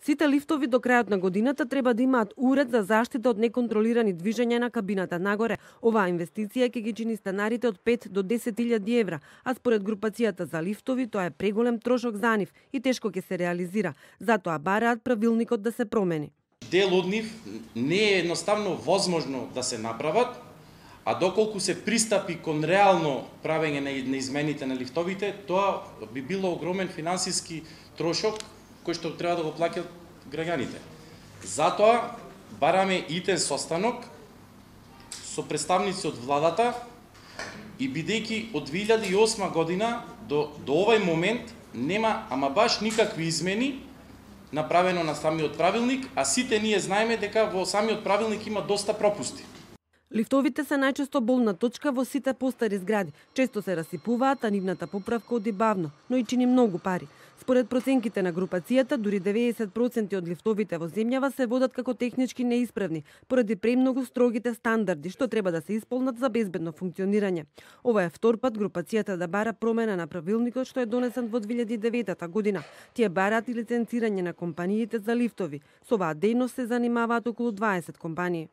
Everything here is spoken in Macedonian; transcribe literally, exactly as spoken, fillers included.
Сите лифтови до крајот на годината треба да имаат уред за заштита од неконтролирани движења на кабината нагоре. Оваа инвестиција ќе ги чини станарите од пет до десет илјади евра, а според групацијата за лифтови тоа е преголем трошок за нив и тешко ќе се реализира. Затоа бараат правилникот да се промени. Дел од нив не е едноставно возможно да се направат, а доколку се пристапи кон реално правење на измените на лифтовите, тоа би било огромен финансиски трошок кој што треба да го плаќаат граѓаните. Затоа бараме итен состанок со представници од владата и бидејќи од две илјади и осма година до, до овај момент нема ама баш никакви измени направено на самиот правилник, а сите ние знаеме дека во самиот правилник има доста пропусти. Лифтовите се најчесто болна точка во сите постари згради. Често се расипуваат, а нивната поправка оди бавно, но и чини многу пари. Според проценките на групацијата, дури деветдесет проценти од лифтовите во земјава се водат како технички неисправни, поради премногу строгите стандарди што треба да се исполнат за безбедно функционирање. Ова е втор пат групацијата да бара промена на правилникот што е донесен во две илјади и девета година. Тие бараат и лиценцирање на компаниите за лифтови. Со оваа дејност се занимаваат околу дваесет компании.